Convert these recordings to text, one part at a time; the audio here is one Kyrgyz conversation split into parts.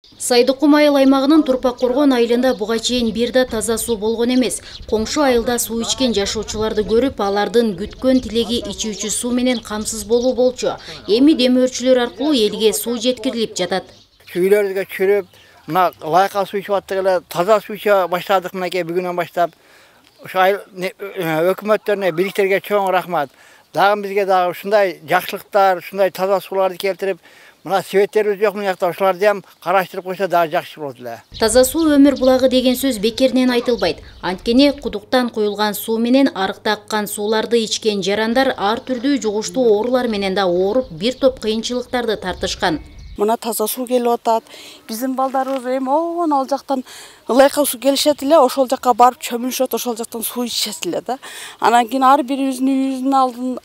Сайдыкум айыл аймагынын Турпак Коргон айылында буга чейин бир да таза суу болгон эмес. Коңшу айылда суу ичкен жашоочуларды көрүп, алардын күткөн тилеги ичүүчү суу менен камсыз болуу болчу. Эми демөөрчүлөр аркылуу элге суу жеткирилип жатат. Үйлөрүбүзгө чүрүп, мына лайка суу ичип аттык эле, таза суу иче баштадык мынакей бүгүнөн баштап. Ошо айыл өкмөттөрүнө, бийликтерге чоң рахмат. Дагы бизге дагы ушундай жакшылыктар, ушундай таза сууларды келтирип, мына себеттерибиз жок мына жакта, ошолорду ham караштырып койсо дагы жакшы болот эле. Таза суу өмүр булагы деген сөз бекеринен айтылбайт. Анткени кудуктан куюлган суу менен арыкта аккан сууларды ичкен жарандар ар түрдүү жугуштуу оорулар менен да ооруп, бир топ кыйынчылыктарды тартышкан. Мына таза суу келип атат. Биздин балдарыбыз эми ал жактан ылайка суу келишет эле, ошол жакка барып чөмүлүшөт, ошол жактан суу ичишет эле да. Анан кийин ар бирибиздин үйүбүздүн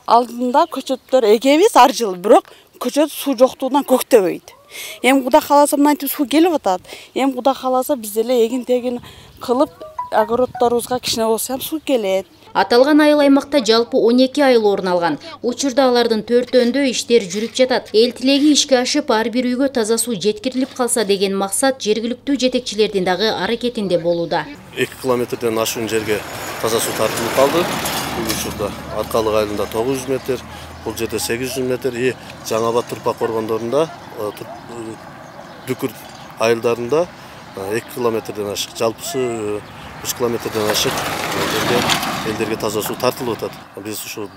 алдында көчөттөр эгебиз ар жылы, бирок көчөт суу жоктугунан көктөбөйт. Эми Кудай кааласа мынтип суу келип атат. Эми Кудай кааласа биз деле эгин-тегин кылып, огороддорубузга кичине болсо суу келет. Аталган айыл аймакта жалпы 12 айыл орун алган. Учурда алардын 4-өндө иштер жүрүп жатат. Эл тилеги ишке ашып, ар бир үйгө таза суу жеткирилип калса деген максат жергиликтүү жетекчилердин дагы аракетинде болууда. 2 километрден ашуун жерге таза суу тартылып калды. Учурда Аркалык айылында 900 метр, бул жерде 800 метр, Жаңы Абад Турпак Коргондорунда, Дүкүр айылдарында 2 километрден ашык, жалпысы 3 километрден ашык элдерге таза суу тартылып атат. Биз ушу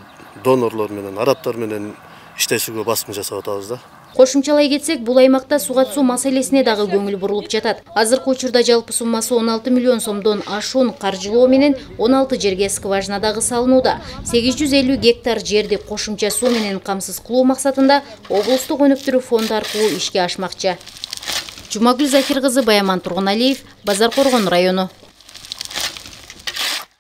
донорлор менен, арабтар менен иштешүүгө басым жасап атабыз да. Кошумчалай кетсек, бул аймакта суга суу маселесине дагы көңүл бурулуп жатат. Азыркы учурда жалпы суммасы 16 миллион сомдон ашуун каржылоо менен 16 жерге скважина дагы салынууда. 850 гектар жерди кошумча суу менен камсыз кылуу максатында облустук өнүктүрүү фонду аркылуу ишке ашмакчы. Жумагүл Закир кызы, Баяман Тургуналиев, Базар Коргон району.